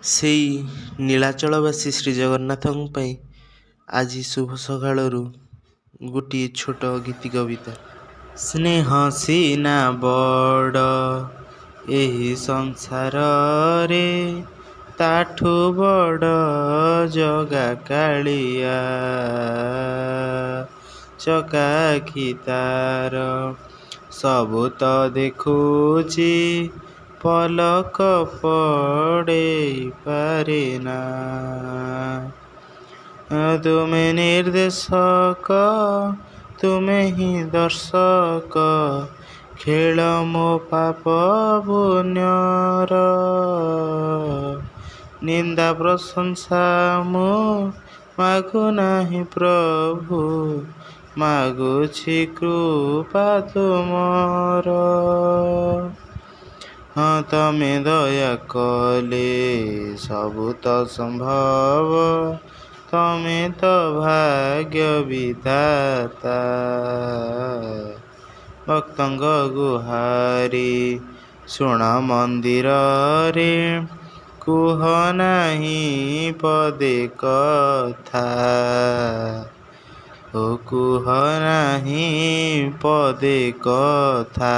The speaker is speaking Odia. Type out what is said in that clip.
ସେଇ ନୀଳାଚଳବାସୀ ଶ୍ରୀଜଗନ୍ନାଥଙ୍କ ପାଇଁ ଆଜି ଶୁଭ ସକାଳରୁ ଗୋଟିଏ ଛୋଟ ଗୀତି କବିତା। ସ୍ନେହ ସିନା ବଡ଼ ଏହି ସଂସାରରେ, ତାଠୁ ବଡ଼ ଜଗା କାଳିଆ। ଚକାଆଖି ତାର ସବୁ ତ ଦେଖୁଛି, ପଲକ ପଡ଼େଇ ପାରେନା। ତୁମେ ନିର୍ଦ୍ଦେଶକ, ତୁମେ ହିଁ ଦର୍ଶକ, ଖେଳ ମୋ ପାପ ପୁଣ୍ୟର। ନିନ୍ଦା ପ୍ରଶଂସା ମୁଁ ମାଗୁନାହିଁ ପ୍ରଭୁ, ମାଗୁଛି କୃପା ତୁମର। ହଁ, ତମେ ଦୟା କଲେ ସବୁ ତ ସମ୍ଭବ, ତମେ ତ ଭାଗ୍ୟ ବିଧାତା। ଭକ୍ତଙ୍କ ଗୁହାରି ଶୁଣ ମନ୍ଦିରରେ, କୁହ ନାହିଁ ପଦେ କଥା। ଓ କୁହ ନାହିଁ ପଦେ କଥା।